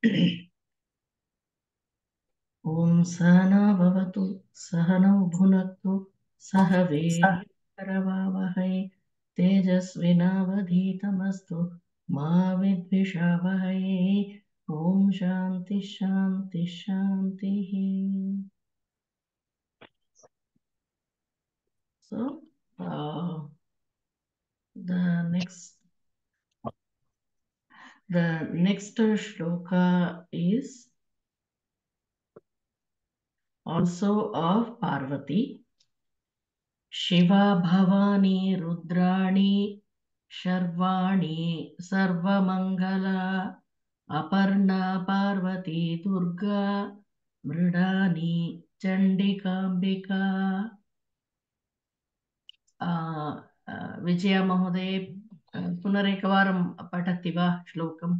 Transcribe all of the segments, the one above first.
ॐ सहना भवतु सहनौ भुनक्तु सह वीर्यं तेजस्विनावधीतमस्तु मा विद्विषावहै। ॐ शान्ति शान्ति शान्तिः। So the next shloka is also of Parvati. शिवा भवानी रुद्राणी शर्वाणी सर्वमंगला अपर्णा पार्वती दुर्गा मृडानी चंडिकांबिका। विजया महोदय पुनरेकवारं पठति वा श्लोकम्?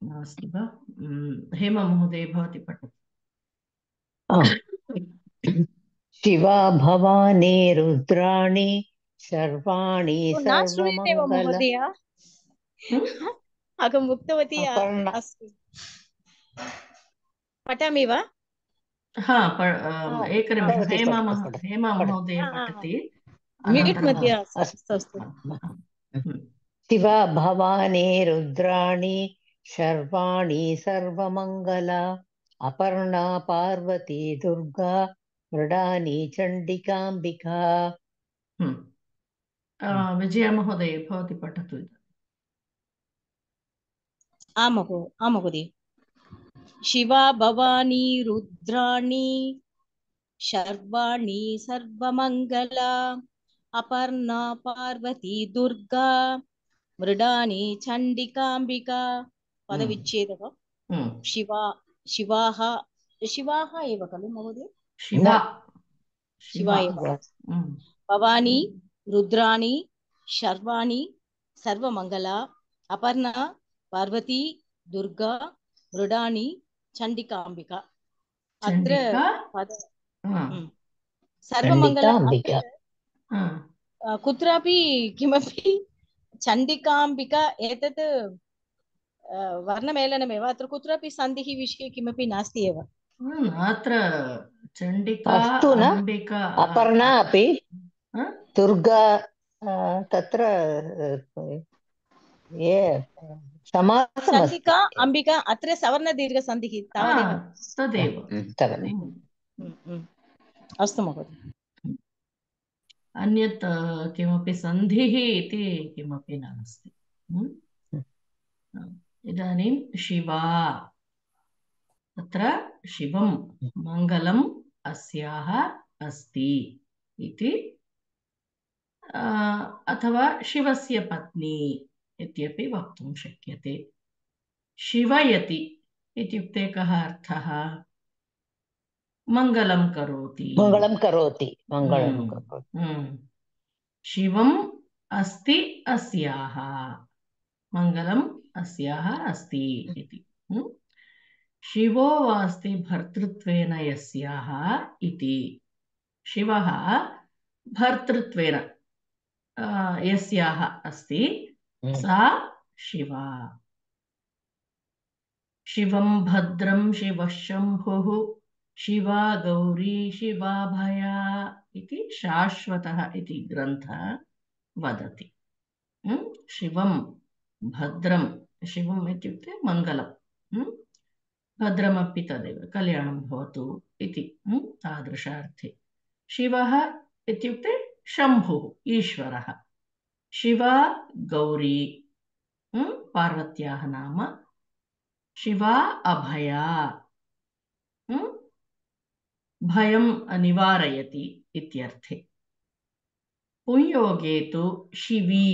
नास्ति वा? हेमा महोदय भवती पठतु। शिवा भवानी रुद्राणी शर्वाणी न श्रूयते वा महोदय? अहम् उक्तवती अस्ति। पठामि वा? एकनिमिषम्। हेमा महोदय पठति। म्यूट् मध्ये अस्तु। शिवा भवानी रुद्राणी शर्वाणी सर्वमंगला अपर्णा पार्वती दुर्गा मृडानी चंडिकांबिका। विजया महोदय भवती पठतु। आम् महोदय। शिवा भवानी रुद्राणी शर्वाणी सर्वमंगला अपर्णा पार्वती दुर्गा मृडानी चंडिकांबिका। पदविच्छेदः। शिवाः एव खलु महोदय? शिवा एव। भवानी रुद्राणी शर्वाणी सर्वमंगला अपर्णा पार्वती दुर्गा मृडानी चंडिकांबिका। अत्र सर्वमंगला कुत्रापि किमपि चंडिकांबिका एतत् वर्णमेलनमेव। अत्र कुत्रापि सन्धिः विषये किमपि नास्ति एव। अत्र चंडिका अंबिका अपर्णा अपि दुर्गा तत्र चंडिका अंबिका अत्र सवर्णदीर्घसन्धिः तावदेव। तदेव। अस्तु महोदय। अन्यत् किमपि सन्धिः इति किमपि नास्ति। इदानीं शिवा, तत्र शिवं मङ्गलम् अस्याः अस्ति इति, अथवा शिवस्य पत्नी इत्यपि वक्तुं शक्यते। शिवयति इत्युक्ते कः अर्थः? मङ्गलं करोति। शिवम् अस्ति अस्याः, मङ्गलम् अस्याः अस्ति इति। शिवो वास्ति भर्तृत्वेन यस्याः इति। शिवः भर्तृत्वेन यस्याः अस्ति सा शिवा। शिवं भद्रं शिवः शम्भुः शिवा गौरी शिवाभया इति शाश्वतः इति ग्रन्थः वदति। शिवं भद्रं, शिवम् इत्युक्ते मङ्गलं, भद्रमपि तदेव, कल्याणं भवतु इति तादृशार्थे। शिवः इत्युक्ते शम्भुः, ईश्वरः। शिवा गौरी पार्वत्याः नाम। शिवा अभया, भयं निवारयति इत्यर्थे। पुंयोगे तु शिवी,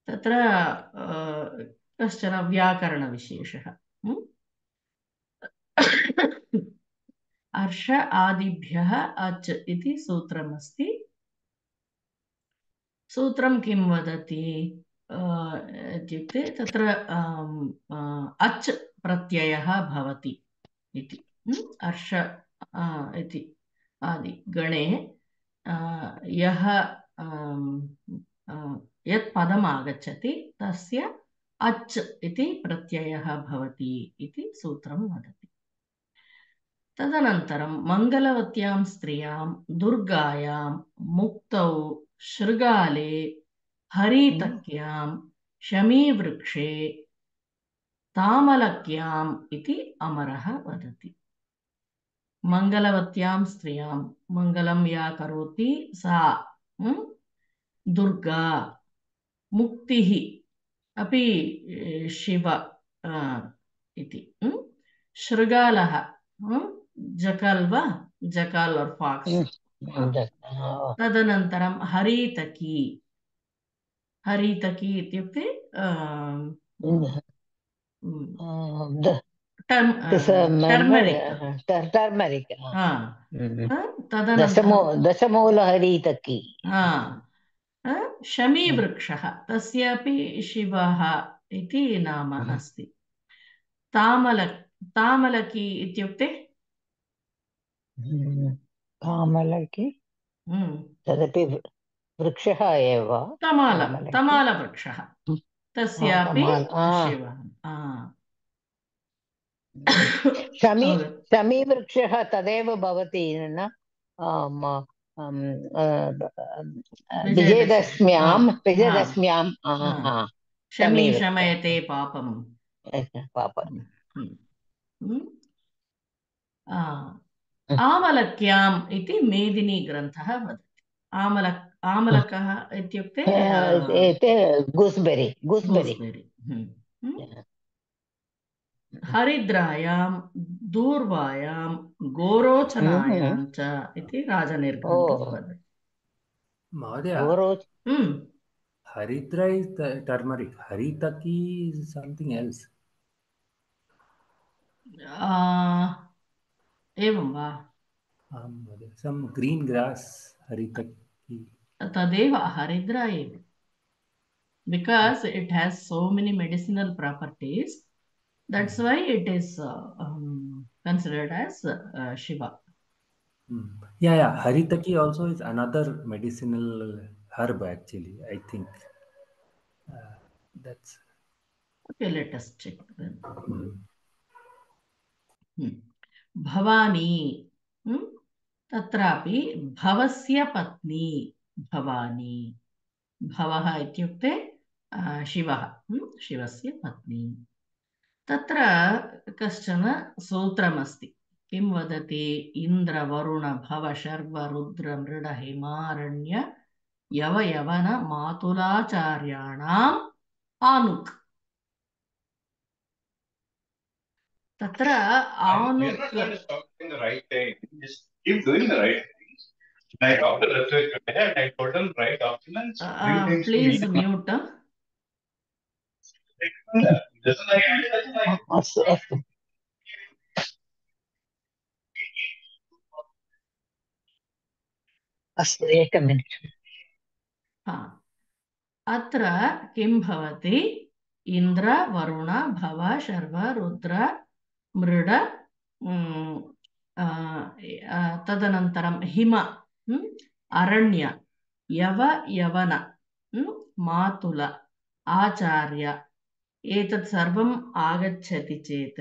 तत्र कश्चन व्याकरणविशेषः। अर्ष आदिभ्यः अच् इति सूत्रमस्ति। सूत्रं किं वदति इत्युक्ते तत्र अच् प्रत्ययः भवति इति। अर्ष इति आदि गणे यः यत् पदम् आगच्छति तस्य अच् इति प्रत्ययः भवति इति सूत्रं वदति। तदनन्तरं मङ्गलवत्यां स्त्रियां दुर्गायां मुक्तौ शृगाले हरितक्यां शमीवृक्षे तामलक्याम् इति अमरः वदति। मङ्गलवत्यां स्त्रियां मङ्गलं या करोति सा दुर्गा, मुक्तिः अपि शिव इति, शृगालः जकल् वा, जकल् और फाक्स्। तदनन्तरं हरितकी, हरितकी इत्युक्ते टर्मरिक्। तदनन्तरं दशमूलहरितकी। शमीवृक्षः तस्यापि शिवः इति नाम अस्ति। तामलकी इत्युक्ते तामलकी तदपि वृक्षः एव। तमालवृक्षः तस्यापि शिवः। शमीवृक्षः तदेव भवति न, विजयदशम्यां शमी शमयते पापं। आमलक्याम् इति मेदिनी ग्रन्थः वदति। आमलकः इत्युक्ते गूस्बेरी। हरिद्रायां दूर्वायां गोरोचनायां च इति राजनिर्घण्टः वदति। महोदय, हरिद्रा is turmeric. Haritaki is something else. एवं वा? Some green grass, haritaki. तदेव हरिद्रा एव, because it has so many medicinal properties. That's why it is considered as Shiva. Yeah. Haritaki also is another medicinal herb actually, I think. That's okay. Let us check then. Bhavani, तत्रापि भवस्य पत्नी भवानी। भवः इत्युक्ते शिवः, शिवस्य पत्नी। तत्र कश्चन सूत्रमस्ति। किं वदति? इन्द्र वरुण भव शर्व रुद्र मृड हिमारण्य यव यवन मातुलाचार्याणाम् आनुक्। तत्र आनुक् प्लीज म्यूट। अस्तु, एकमिनिट्। अत्र किं भवति? इन्द्र वरुण भव शर्व रुद्र मृड, तदनन्तरं हिम, अरण्य, यव यवन, मातुल, आचार्य, एतत् सर्वम् आगच्छति चेत्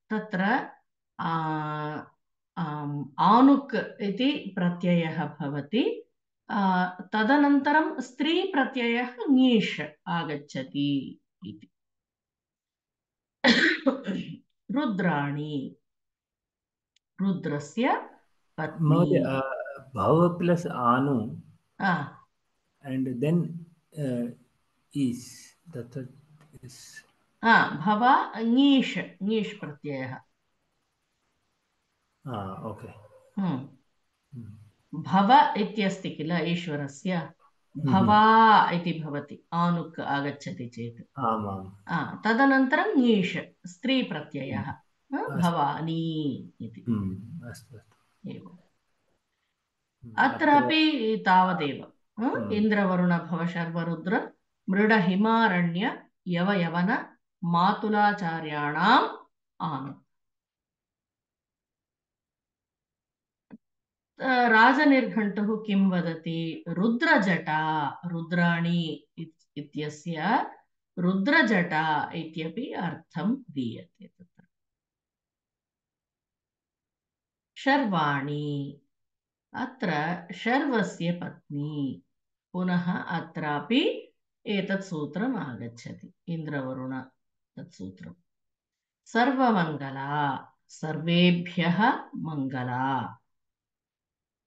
तत्र आनुक् इति प्रत्ययः भवति। तदनन्तरं स्त्री प्रत्ययः ङीष् आगच्छति इति। रुद्राणी, रुद्रस्य पत्नी। Bhava plus anu and then is that is भव ङीष् प्रत्ययः। okay. भव इत्यस्ति किल ईश्वरस्य, भवा इति भवति आनुक् आगच्छति चेत्। तदनन्तरं ङीष् स्त्री प्रत्ययः, भवानी इति। एवम् अत्रापि तावदेव। इन्द्रवरुण भव शर्व रुद्र मृड हिमारण्य यव यवन मातुलाचार्याणाम् आनुक्। राजनिर्घण्टुः किं वदति? रुद्रजटा, रुद्राणी इत्यस्य रुद्रजटा इत्यपि अर्थं दीयते तत्र। शर्वाणी, अत्र शर्वस्य पत्नी। पुनः अत्रापि एतत् सूत्रम् आगच्छति, इन्द्रवरुण तत् सूत्रम्। सर्वमङ्गला, सर्वेभ्यः मङ्गला।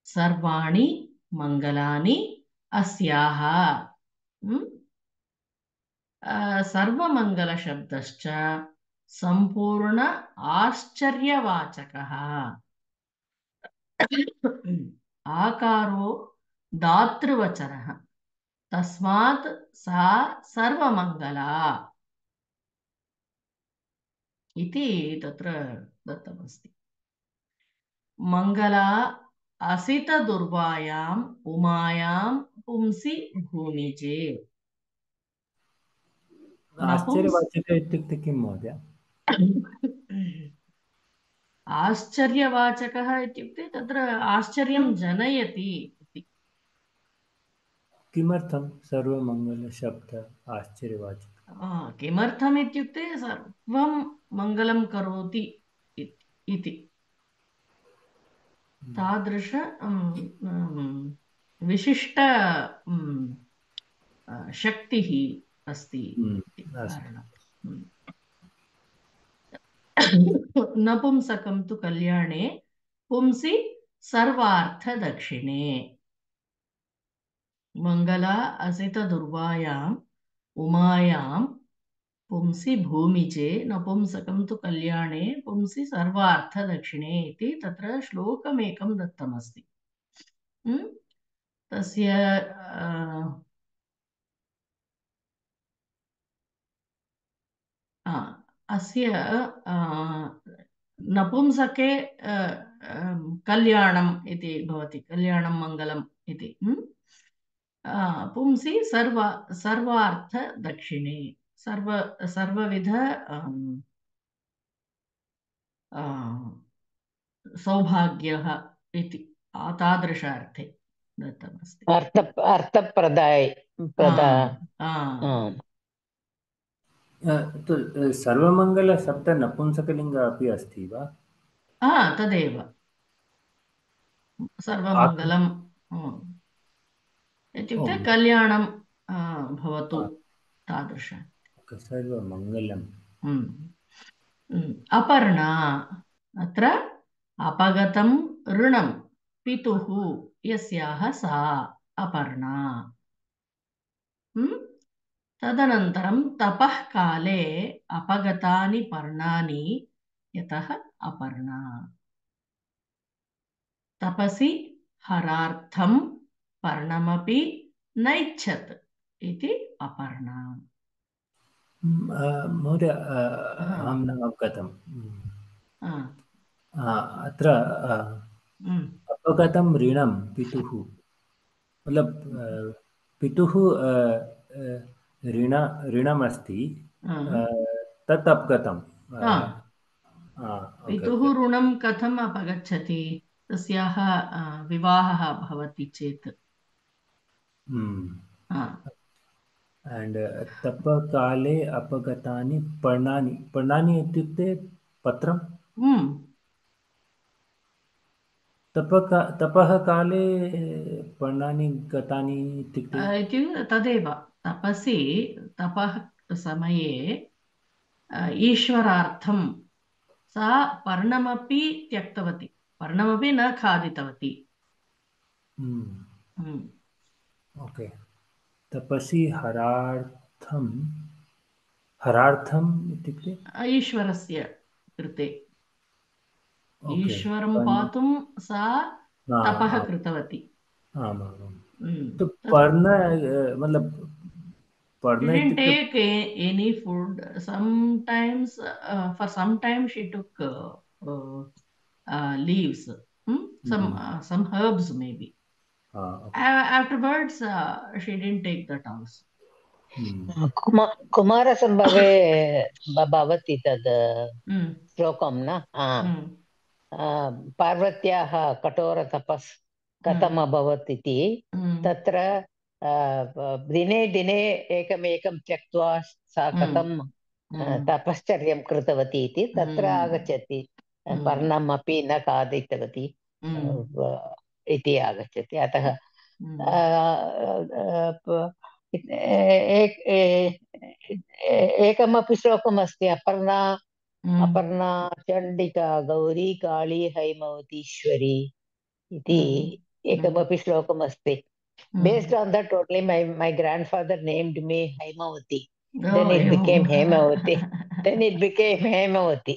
सर्वाणि मङ्गलानि अस्याः। सर्वमङ्गलशब्दश्च सम्पूर्ण आश्चर्यवाचकः। आकारो दातृवचनः, तस्मात् सा सर्वमङ्गला इति तत्र दत्तमस्ति। मङ्गला असितदुर्वायाम् उमायां पुंसि भूमिजे। आश्चर्यवाचक इत्युक्ते किं महोदय? आश्चर्यवाचकः इत्युक्ते तत्र आश्चर्यं जनयति इति। किमर्थं सर्वमङ्गलशब्द आश्चर्यवाचकः? किमर्थम् इत्युक्ते सर्वं मङ्गलं करोति इति तादृश विशिष्ट शक्तिः अस्ति इति कारणम्। नपुंसकं तु कल्याणे पुंसि सर्वार्थदक्षिणे। मङ्गला असितदुर्वायाम् उमायां पुंसि भूमिजे, नपुंसकं तु कल्याणे पुंसि सर्वार्थदक्षिणे इति तत्र श्लोकमेकं दत्तमस्ति। तस्य अस्य नपुंसके कल्याणम् इति भवति, कल्याणं मङ्गलम् इति। पुंसि सर्वार्थदक्षिणे, सर्वविध सौभाग्यः इति तादृश अर्थे दत्तमस्ति। अर्थप्रदाय सर्वमङ्गलशब्द नपुंसकलिङ्ग अपि अस्ति वा? तदेव सर्वमङ्गलम् इत्युक्ते कल्याणं भवतु तादृश। सर्वमङ्गलम्। अपर्णा, अत्र अपगतं ऋणं पितुः यस्याः सा अपर्णा। तदनन्तरं तपः काले अपगतानि पर्णानि यतः अपर्णा। तपसि हरार्थं पर्णमपि नैच्छत् इति अपर्णा। महोदय, अहं न अवगतम्। अत्र अपगतं ऋणं पितुः, मतलब पितुः ऋणमस्ति, तत् अपगतं। पितुः ऋणं कथम् अपगच्छति? तस्याः विवाहः भवति चेत्। And तपकाले अपगतानि पर्णानि, पर्णानि इत्युक्ते पत्रं। तपः काले पर्णानि गतानि इत्युक्ते तदेव, तपसि तपः समये ईश्वरार्थं सा पर्णमपि त्यक्तवती, पर्णमपि न खादितवती। ओके। तपसि हरार्थम् इत्युक्ते ईश्वरस्य कृते, ईश्वरं पातुं सा तपः कृतवती। तो पर्ण मतलब didn't take any food. Sometimes for some time she took leaves, some herbs maybe. Afterwards she didn't take that also. कुमारसम्भवे भवति तद् श्लोकं न? पार्वत्याः कठोरतपस् कथम् अभवत् इति तत्र दिने दिने एकमेकं त्यक्त्वा सा कथं तपश्चर्यं कृतवती इति तत्र आगच्छति। पर्णमपि न खादितवती इति आगच्छति। अतः एकमपि श्लोकमस्ति अपर्णा चण्डिका गौरी काली हैमवतीश्वरी इति एकमपि श्लोकमस्ति. Based on that only my grandfather named me Haimavati. Then it became Hemavati. Then it became Hemavati.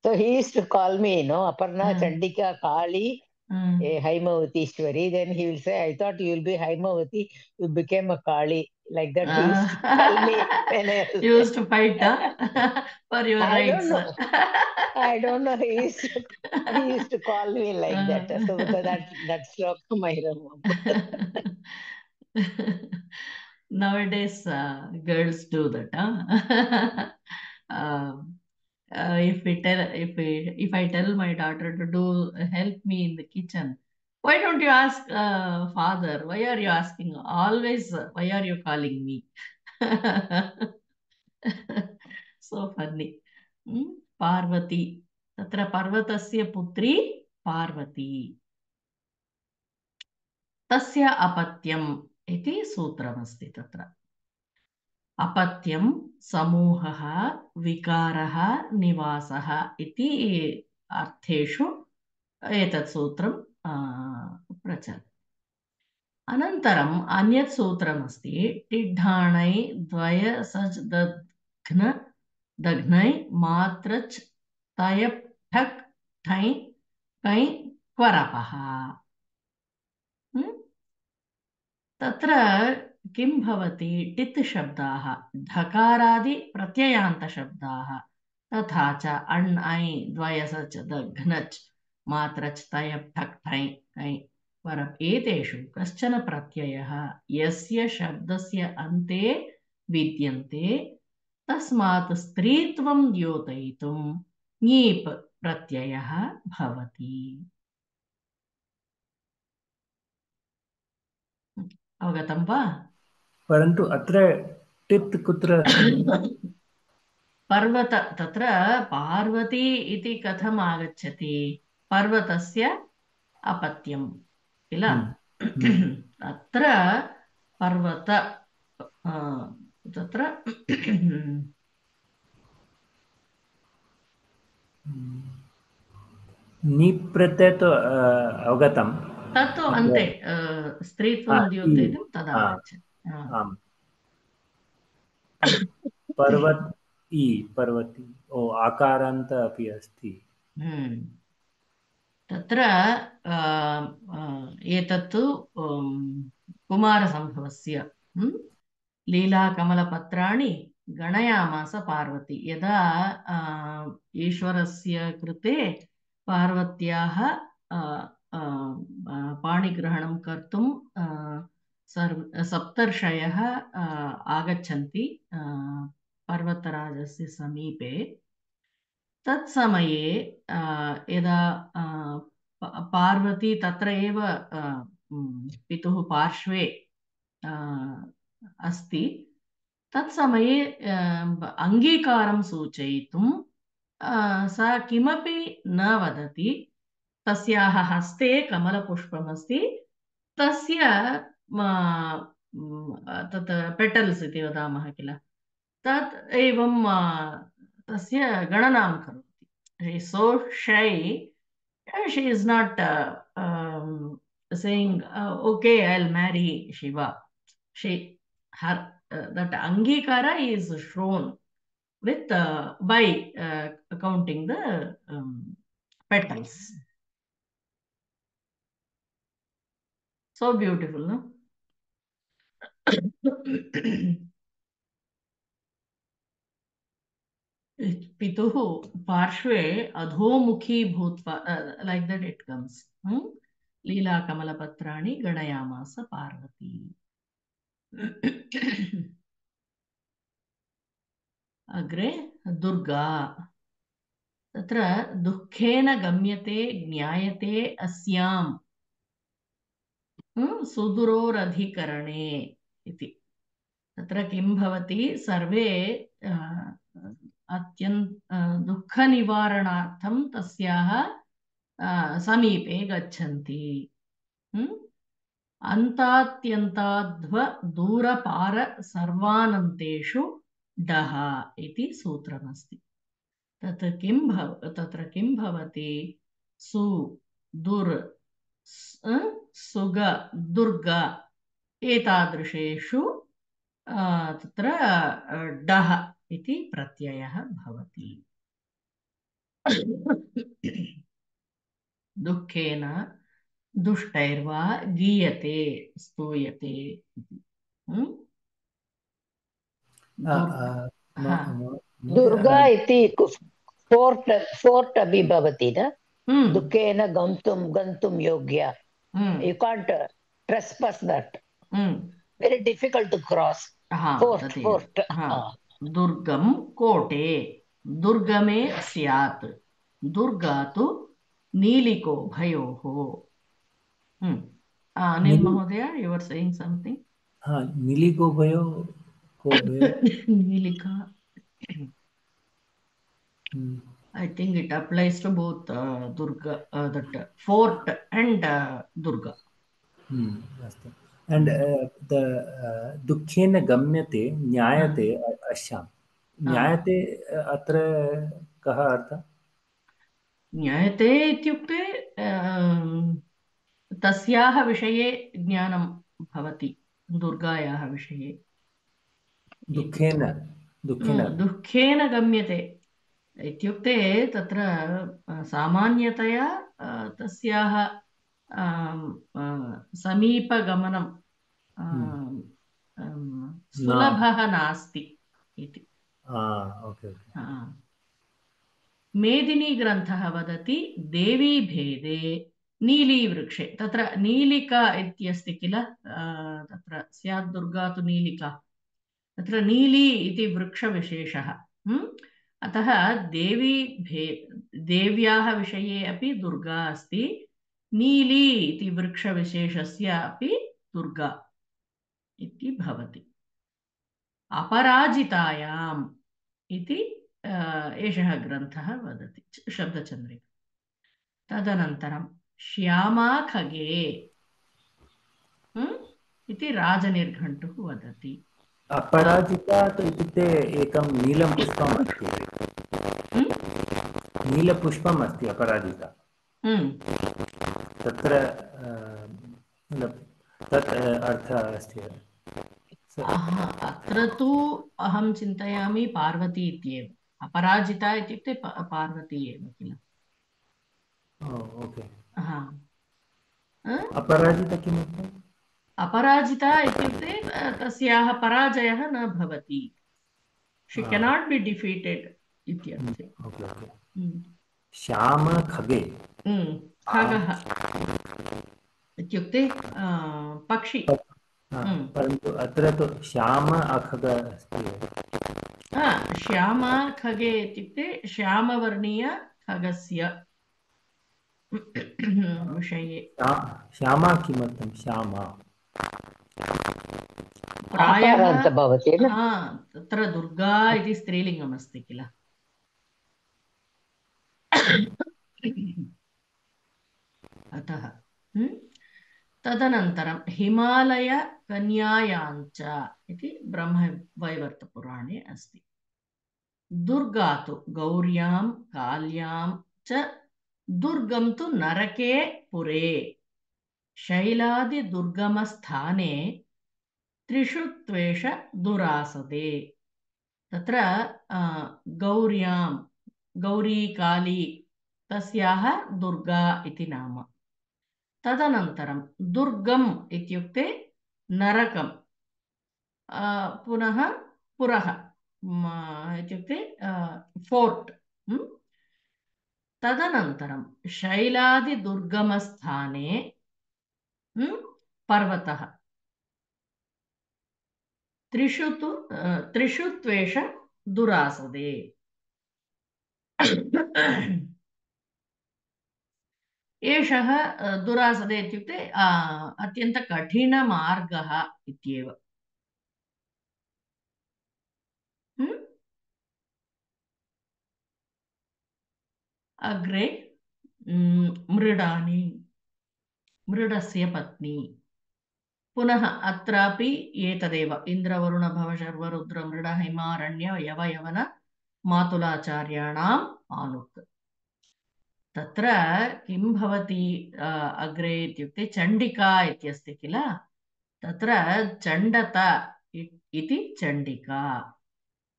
So he used to call me, Aparna Chandika Kali Haimavati. Then he will say, I thought you will be Haimavati. You became a Kali. Like that he used to tell me when I was... You used to fight for your rights. I don't know. He used to call me like that. So that's my remember. Nowadays, girls do that. If I tell my daughter to do help me in the kitchen, why don't you ask father? Why are you asking? Always, why are you calling me? So funny. Parvati. Tatra Parvatasya putri Parvati. Tasya apatyam iti सूत्रमस्ति तत्र. अपत्यं समूहः विकारः निवासः इति अर्थेषु एतत् सूत्रं प्रचलति. अनन्तरम् अन्यत् सूत्रमस्ति टिड्ढाणै द्वय सज् दघ्नै मात्रच् तयप् ठक् ठै कै क्वरपः. तत्र किं भवति? टित् शब्दाः ढकारादि प्रत्ययान्तशब्दाः तथा च अण् ऐ द्वयसच् दघ्नच् मात्रच् तयप् ठक् ठै कै परम् एतेषु कश्चन प्रत्ययः यस्य शब्दस्य अन्ते विद्यन्ते तस्मात् स्त्रीत्वं द्योतयितुं ङीप् प्रत्ययः भवति. अवगतं वा? परन्तु अत्र टित् कुत्र? पर्वत तत्र पार्वती इति कथम् आगच्छति? पर्वतस्य अपत्यं किल? अत्र पर्वत तत्र निप्रत्यय तो अवगतं. तत्तु अन्ते स्त्रीत्वं द्योतयितुं तदा आगच्छति. आम्. पर्वती आकारान्त अपि अस्ति. तत्र एतत्तु कुमारसम्भवस्य लीलाकमलपत्राणि गणयामास पार्वती. यदा ईश्वरस्य कृते पार्वत्याः पाणिग्रहणं कर्तुं सप्तर्षयः आगच्छन्ति पर्वतराजस्य समीपे. तत्समये यदा पार्वती तत्र एव पितुः पार्श्वे अस्ति, तत्समये अङ्गीकारं सूचयितुं सा किमपि न वदति. तस्याः हस्ते कमलपुष्पमस्ति. तस्य तत् पेटल्स् इति वदामः किल, तत् एवं तस्य गणनां करोति. She is so shy. She is not saying, okay, I'll marry Shiva. That Angikara is shown with by counting the petals. So beautiful, no? पितुः पार्श्वे अधोमुखी भूत्वा like that it comes. लीलाकमलपत्राणि गणयामास Parvati. अग्रे दुर्गा. तत्र दुःखेन गम्यते ज्ञायते अस्याम् सुदूरोरधिकरणे इति। तत्र किं भवति, सर्वे दुःखनिवारणार्थं तस्याः समीपे गच्छन्ति। अन्तात्यन्ताध्व दूरपार सर्वानन्तेषु डः इति सूत्रमस्ति। तत्र किं भवति, सु दुर् सुग दुर्ग एतादृशेषु तत्र डः इति प्रत्ययः भवति। दुःखेन दुष्टैर्वा गीयते स्तूयते इति। दुर्गा इति फोर्ट् अपि भवति न, दुःखेन गन्तुं योग्य। You can't trespass that. Very difficult to cross. Fort. दुर्गम कोटे दुर्गमे स्यात्, दुर्गा तु नीलिको भयोः। अनिल महोदय, you were saying something? नीलिको भयो नीलिका. I think it applies to both Durga, that fort and Durga. And the दुःखेन गम्यते ज्ञायते अस्याम्, ज्ञायते अत्र कः अर्थः? ज्ञायते इत्युक्ते तस्याः विषये ज्ञानं भवति, दुर्गायाः विषये। दुःखेन गम्यते इत्युक्ते तत्र सामान्यतया तस्याः समीपगमनं सुलभः नास्ति इति। मेदिनीग्रन्थः वदति देवी भेदे नीलीवृक्षे। तत्र नीलिका इत्यस्ति किल, तत्र स्यात् दुर्गा तु नीलिका, तत्र नीली इति वृक्षविशेषः। अतः देव्याः विषये अपि दुर्गा अस्ति, नीली इति वृक्षविशेषस्य अपि दुर्गा इति भवति। अपराजितायाम् इति एषः ग्रन्थः वदति, शब्दचन्द्रिका। तदनन्तरं श्यामा खगे इति राजनिर्घण्टुः वदति। अपराजिता इत्युक्ते एकं नीलं पुष्पम् अस्ति, नीलपुष्पम् अस्ति अपराजिता। तत्र तत् अर्थः अस्ति। अत्र तु अहं चिन्तयामि पार्वती इत्येव। अपराजिता इत्युक्ते पार्वती एव किल। अपराजिता किमर्थम्? अपराजिता इत्युक्ते तस्याः पराजयः न भवति, शी केनाट् बि डिफीटेड् इत्यर्थे। श्याम खगे, खगः इत्युक्ते पक्षी, परन्तु अत्र तु श्याम अखग अस्ति। श्याम खगे इत्युक्ते श्यामवर्णीय खगस्य विषये। श्यामा किमर्थं श्यामा? प्रायः तत्र दुर्गा इति स्त्रीलिङ्गम् अस्ति किल। अतः तदनन्तरं हिमालयकन्यायाञ्च इति ब्रह्मवैवर्तपुराणे अस्ति। दुर्गा तु गौर्यां काल्यां च दुर्गं तु नरके पुरे, शैलादिदुर्गमस्थाने त्रिषु त्वेष दुरासदे। तत्र गौर्यां, गौरी काली तस्याः दुर्गा इति नाम। तदनन्तरं दुर्गम् इत्युक्ते नरकं, पुनः पुरः इत्युक्ते फोर्ट्। तदनन्तरं शैलादिदुर्गमस्थाने पर्वतः, त्रिषु त्वेष दुरासदे। एषः दुरासदे इत्युक्ते अत्यन्तकठिनमार्गः इत्येव। अग्रे मृडानि, मृडस्य पत्नी। पुनः अत्रापि एतदेव इन्द्रवरुण भव शर्व रुद्र मृड हिमारण्य यव यवन मातुलाचार्याणाम् आनुक्। तत्र किं भवति अग्रे इत्युक्ते चण्डिका इत्यस्ति किल, तत्र चण्डत इति चण्डिका,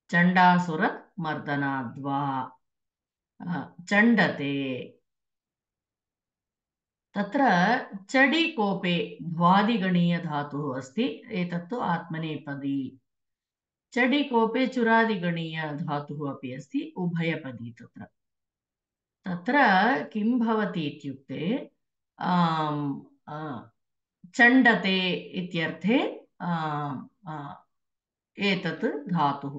चण्डासुरमर्दनाद्वा चण्डते। तत्र चडिकोपे भ्वादिगणीयधातुः अस्ति, एतत्तु आत्मनेपदी। चडिकोपे चुरादिगणीयधातुः अपि अस्ति, उभयपदी। तत्र तत्र किं भवति इत्युक्ते चण्डते इत्यर्थे एतत् धातुः।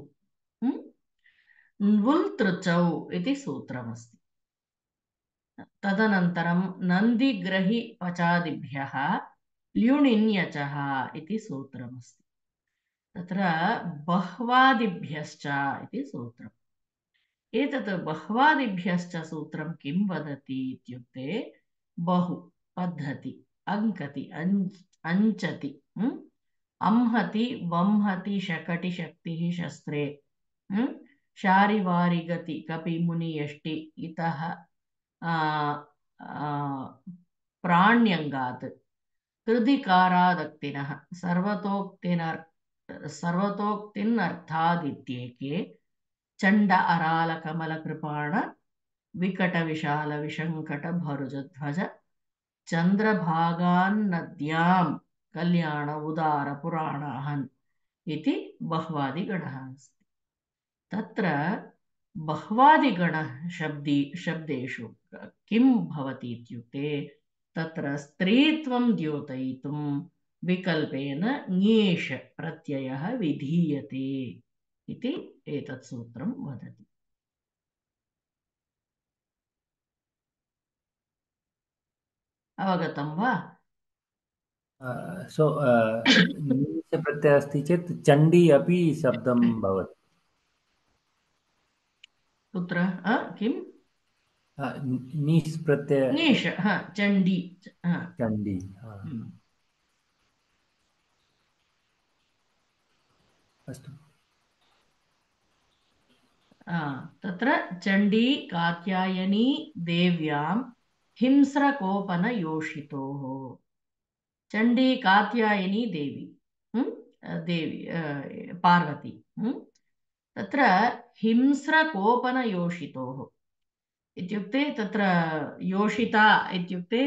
न्वुल् तृचौ इति सूत्रमस्ति। तदनन्तरं नन्दिग्रहि पचादिभ्यः ल्युणिन्यचः इति सूत्रमस्ति। तत्र बह्वादिभ्यश्च इति सूत्रम्। एतत् बह्वादिभ्यश्च सूत्रं किं वदति इत्युक्ते बहु, पद्धति, अङ्कति, अञ्चति, अंहति, वंहति, शकटि, शक्तिः, शस्त्रे, शारिवारिगति, कपि, मुनि, यष्टि, इतः प्राण्यङ्गात्, कृधिकारादक्तिनः, सर्वतोक्तिनर्थादित्येके चण्ड अराल कमल कृपाण विकट विशाल विशङ्कट भरुजध्वज चन्द्रभागान्नद्यां कल्याण उदार पुराणाहन् इति बह्वादिगणः अस्ति। तत्र बह्वादिगणः शब्देषु किं भवति इत्युक्ते तत्र स्त्रीत्वं द्योतयितुं विकल्पेन ङेष् प्रत्ययः विधीयते इति एतत् सूत्रं वदति। अवगतं वा? सो नीच प्रत्ययः अस्ति चेत् चण्डी अपि शब्दं भवति। कुत्र किं नीस् प्रत्यय ङेष् चण्डी चण्डी। अस्तु। तत्र चण्डी कात्यायनी देव्यां हिंस्रकोपनयोषितोः। चण्डी कात्यायनी देवी, देवी पार्वती। तत्र हिंस्रकोपनयोषितोः इत्युक्ते तत्र योषिता इत्युक्ते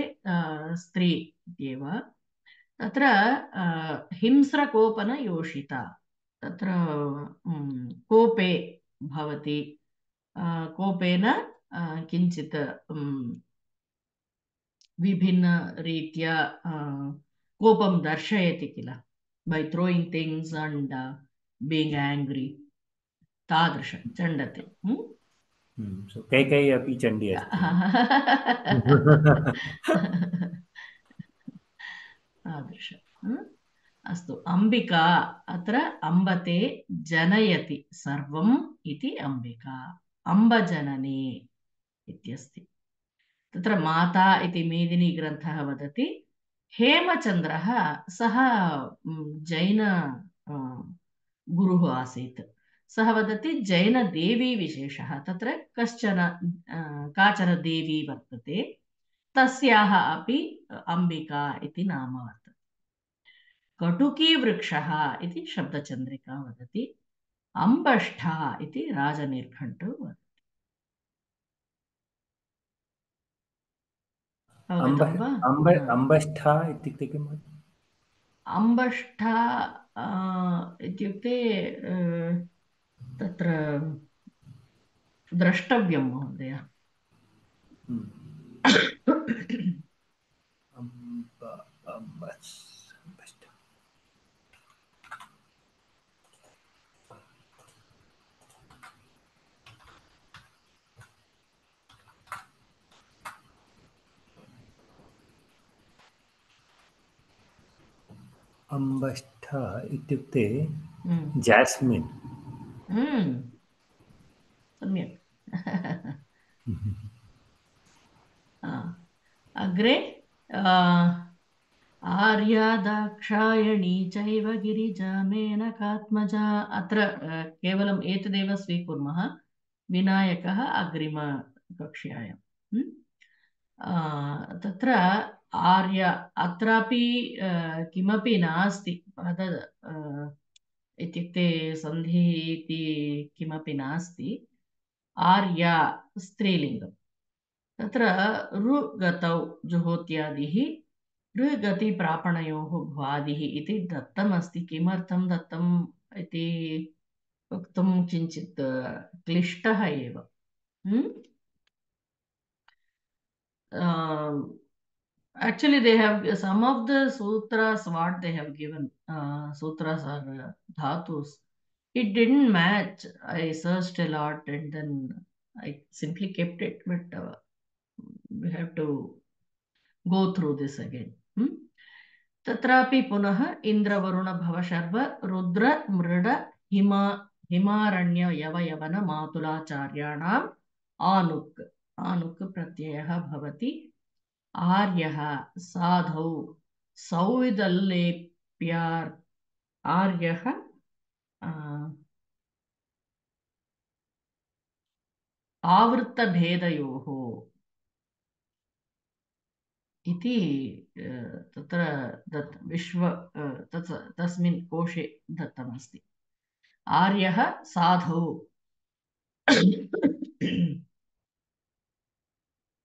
स्त्री इत्येव। तत्र हिंस्रकोपनयोषिता, तत्र कोपे भवति, कोपेन किञ्चित् विभिन्नरीत्या कोपं दर्शयति किल, by throwing things and being angry, तादृश चण्डते। सो कैकेयी अपि चण्डी अस्ति। तादृश। अस्तु, अम्बिका, अत्र अम्बते जनयति सर्वम् इति अम्बिका, अम्बजननी इत्यस्ति। तत्र माता इति मेदिनी ग्रन्थः वदति, हेमचन्द्रः सः जैन गुरुः आसीत्। सः वदति जैनदेवी विशेषः, तत्र काचन देवी वर्तते, तस्याः अपि अम्बिका इति नाम वर्तते। कटुकीवृक्षः इति शब्दचन्द्रिका वदति, अम्बष्ठा इति राजनीर्घण्टो वदति। अम्बष्ठा इत्युक्ते किम्? अम्बष्ठा इत्युक्ते तत्र द्रष्टव्यं महोदय। अम्बष्ठ इत्युक्ते हम्म, जास्मिन्। सम्यक्। अग्रे आर्या दाक्षायणी चैव गिरिजा मेनकात्मजा। अत्र केवलम् एतदेव स्वीकुर्मः। विनायकः अग्रिमकक्ष्यायां। तत्र आर्य अत्रापि किमपि नास्ति पद इत्युक्ते सन्धिः इति किमपि नास्ति। आर्या स्त्रीलिङ्गम्। तत्र ऋगतौ जुहोत्यादिः ऋगतिप्रापणयोः भ्वादिः इति दत्तमस्ति। किमर्थं दत्तम् इति वक्तुं किञ्चित् क्लिष्टः एव। Actually, they have some of the sutras, what they have given, sutras are dhatus. It didn't match. I searched a lot and then I simply kept it, but we have to go through this again. तत्रापि पुनः इन्द्रवरुण भवशर्व रुद्र मृड हिमारण्य यवयवन मातुलाचार्याणाम् आनुक् आनुक् प्रत्ययः भवति। आर्यः साधौ सौविदल्लेप्यार् आर्यः आवृत्तभेदयोः इति तत्र तस्मिन् कोशे दत्तमस्ति। आर्यः साधौ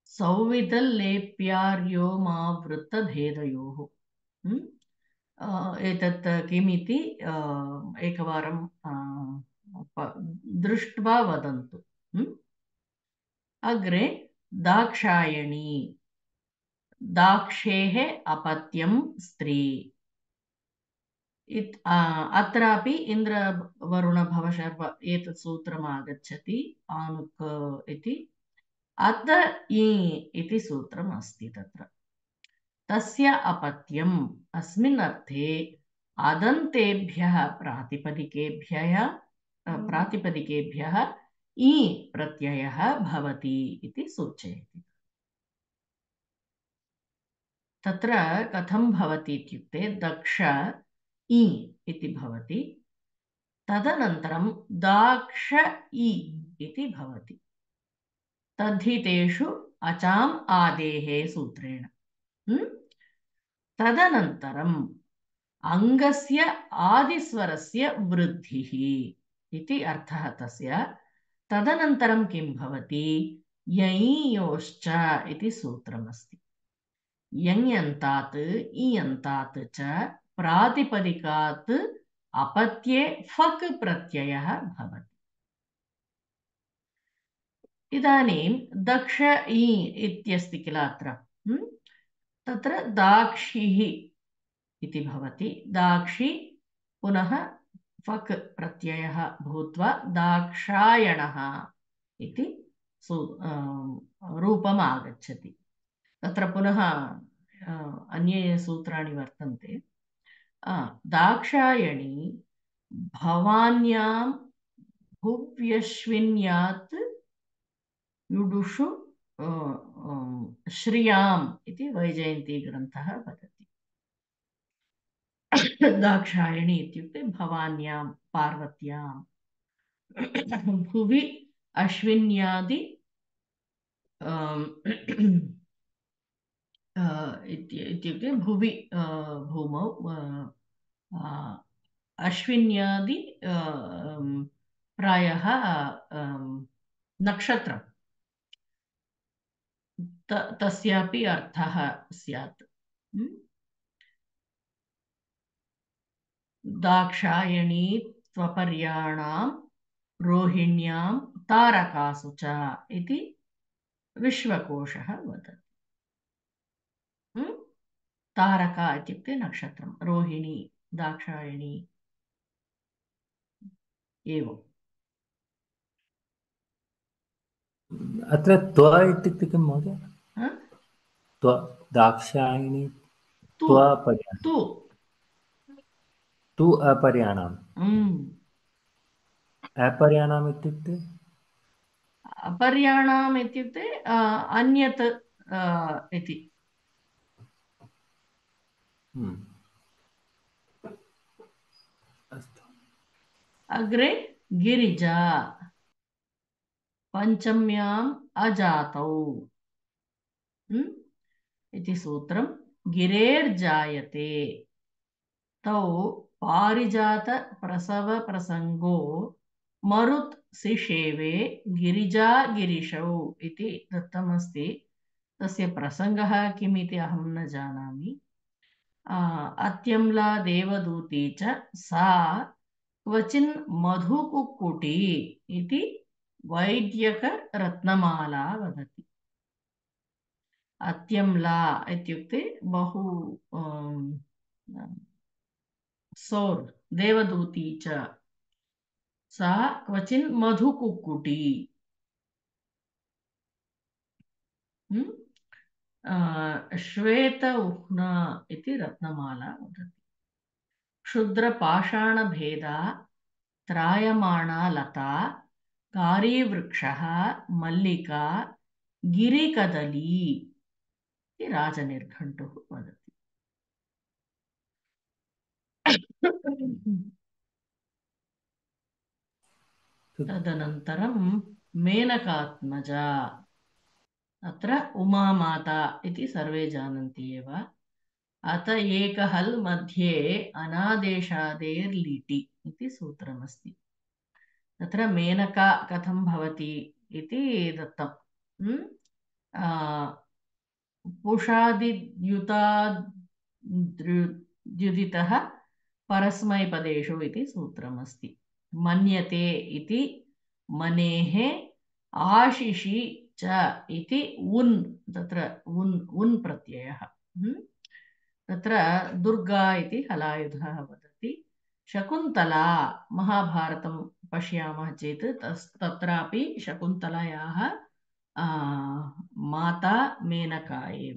सौविदल्लेप्यार्योमावृत्तभेदयोः। एतत् किमिति एकवारं दृष्ट्वा वदन्तु। अग्रे दाक्षायणी दाक्षेः अपत्यं स्त्री। अत्रापि इन्द्रवरुणभवशर्व एतत् सूत्रम् आगच्छति आनुक् इति। अत इति सूत्रम् अस्ति तत्र। तस्य अपत्यम् अस्मिन् अर्थे अदन्तेभ्यः प्रातिपदिकेभ्यः इ प्रत्ययः भवति इति सूचयति। तत्र कथं भवति इत्युक्ते दक्ष इ इति भवति, तदनन्तरं दाक्ष इ इति भवति। तद्धि तेषु अचाम् आदेः सूत्रेण। तदनन्तरम् अङ्गस्य आदिस्वरस्य वृद्धिः इति अर्थः तस्य। तदनन्तरं किं भवति? यञ्योश्च इति सूत्रमस्ति। यञ्यन्तात् इयन्तात् च प्रातिपदिकात् अपत्ये फक् प्रत्ययः भवति। इदानीं दक्ष इ इत्यस्ति किल अत्र, तत्र दाक्षिः इति भवति। दाक्षि पुनः फक् प्रत्ययः भूत्वा दाक्षायणः इति रूपम् आगच्छति। तत्र पुनः अन्ये सूत्राणि वर्तन्ते। दाक्षायणी भवान्यां भुव्यश्विन्यात् युडुषु श्रियाम् इति वैजयन्तीग्रन्थः वदति। दाक्षायणी इत्युक्ते भवान्यां पार्वत्यां, भुवि अश्विन्यादि इत्युक्ते भुवि भूमौ अश्विन्यादि प्रायः नक्षत्रं तस्यापि अर्थः स्यात्। दाक्षायणी त्वपर्याणां रोहिण्यां तारकासु च इति विश्वकोशः वदति। तारका इत्युक्ते नक्षत्रं, रोहिणी दाक्षायणी एवम्। अत्र त्व इत्युक्ते किं महोदय? त्व दाक्षायणी त्व पर्यायः। तु तु अपर्याणाम् अपर्याणाम् इत्युक्ते अपर्याणाम् इत्युक्ते अन्यत् इति। अस्तु। अग्रे गिरिजा पञ्चम्याम् अजातौ इति सूत्रं। गिरेर्जायते तौ पारिजात प्रसव प्रसंगो मरुत् सिषेवे गिरिजा गिरिशौ इति दत्तमस्ति। तस्य प्रसंगः किम् इति अहं न जानामि। अत्यम्ला देवदूती च सा क्वचिन् मधुकुक्कुटी इति वैद्यकरत्नमाला वदति। अत्यम्ला इत्युक्ते बहु सौर् देवदूती च सा क्वचिन् मधुकुक्कुटी श्वेत उह्ना इति रत्नमाला वदति। क्षुद्रपाषाणभेदा त्रायमाणा लता कारीवृक्षः मल्लिका गिरिकदली इति राजनिर्घण्टुः वदति। तदनन्तरं मेनकात्मजा। अत्र उमामाता इति सर्वे जानन्ति एव। अत एकहल् मध्ये अनादेशादेर्लिटि इति सूत्रमस्ति। तत्र मेनका कथं भवति इति दत्तम्। पुषादिद्युदितः परस्मैपदेषु इति सूत्रमस्ति। मन्यते इति मनेः आशिषि च इति उन् तत्र उन् प्रत्ययः। तत्र दुर्गा इति हलायुधः वदति। शकुन्तला महाभारतं पश्यामः चेत् तत्रापि शकुन्तलायाः माता मेनका एव।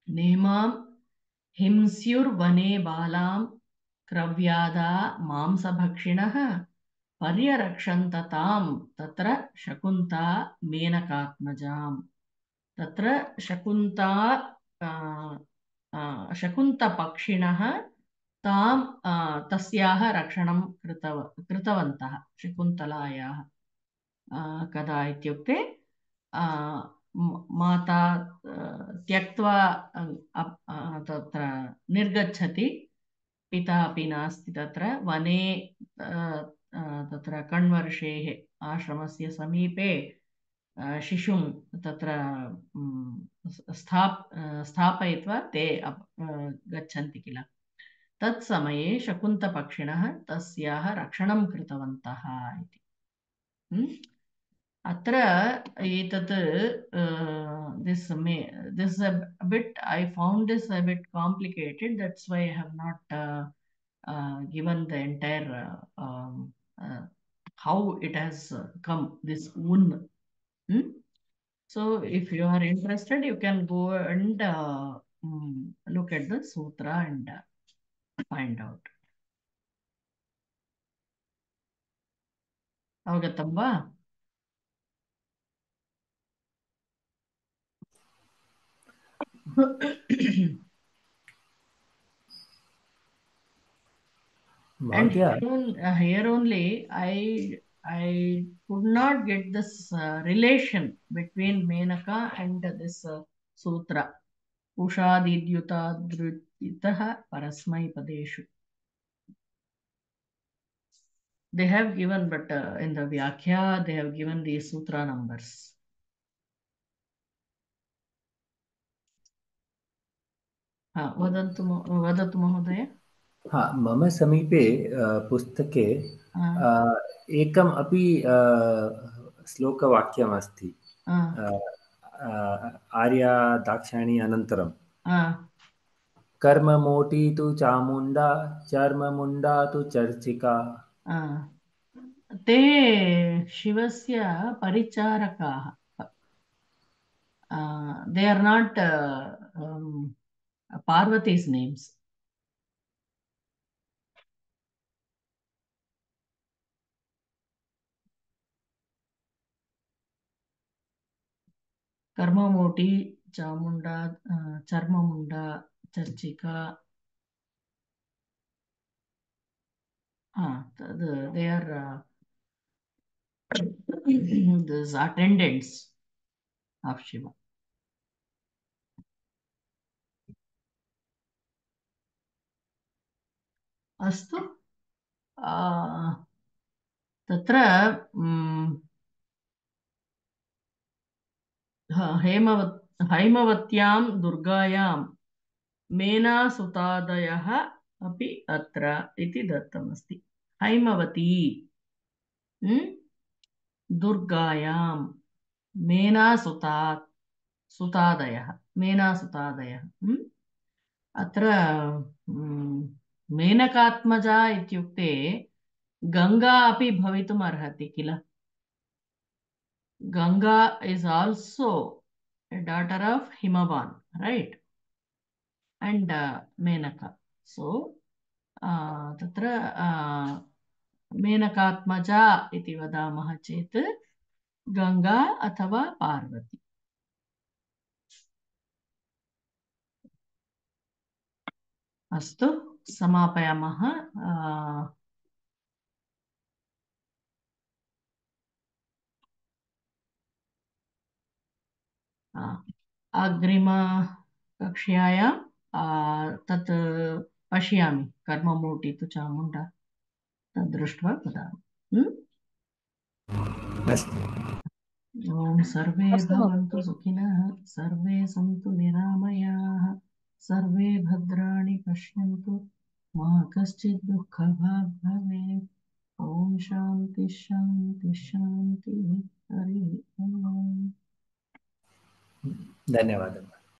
नेमां हिंस्युर्वने बालां क्रव्यादा मांसभक्षिणः पर्यरक्षन्ततां तत्र शकुन्ता मेनकात्मजाम्। तत्र शकुन्तपक्षिणः तां तस्याः रक्षणं कृतवन्तः शकुन्तलायाः। कदा इत्युक्ते माता त्यक्त्वा तत्र निर्गच्छति, पिता अपि नास्ति तत्र वने, तत्र कण्वर्षेः आश्रमस्य समीपे शिशुं तत्र स्थापयित्वा ते गच्छन्ति किल। तत्समये शकुन्तपक्षिणः तस्याः रक्षणं कृतवन्तः इति। अत्र एतत् this a bit, I found this a bit complicated. That's why I have not given the entire how it has come, this un. So if you are interested, you can go and look at the sutra and find out. Avagatam va? And here only I could not get this relation between Menaka and this sutra. Ushadidyutadrititah parasmaipadeshu. They have given, but in the Vyakhya they have given the sutra numbers. वदतु महोदय। मम समीपे पुस्तके एकम् अपि श्लोकवाक्यमस्ति। आर्या दाक्षायणी अनन्तरं कर्ममोटी तु चामुण्डा चर्ममुण्डा तु चर्चिका। ते शिवस्य परिचारकाः. They are not Parvati's names. Karmamoti, Chamunda, Charmamunda, Charchika. They are these attendants of Shiva. अस्तु तत्र हैमवत्यां दुर्गायां मेनासुतादयः अपि अत्र इति दत्तमस्ति। हैमवती दुर्गायां मेनासुतादयः अत्र मेनकात्मजा इत्युक्ते गंगा अपि भवितुम् अर्हति किल। Ganga is also a daughter of Himavan, right? And Menaka. So तत्र मेनकात्मजा इति वदामः चेत् गंगा अथवा पार्वती। अस्तु समापयामः। अग्रिमकक्ष्यायां तत् पश्यामि कर्ममूर्ति तु चामुण्डा तद् दृष्ट्वा वदामि। ॐ सर्वे भवन्तु सुखिनः, सर्वे सन्तु निरामयाः, सर्वे भद्राणि पश्यन्तु, मा कश्चित् दुःखभाग् भवेत्। ॐ शान्ति शान्ति शान्तिः। हरिः ओम्। धन्यवादः।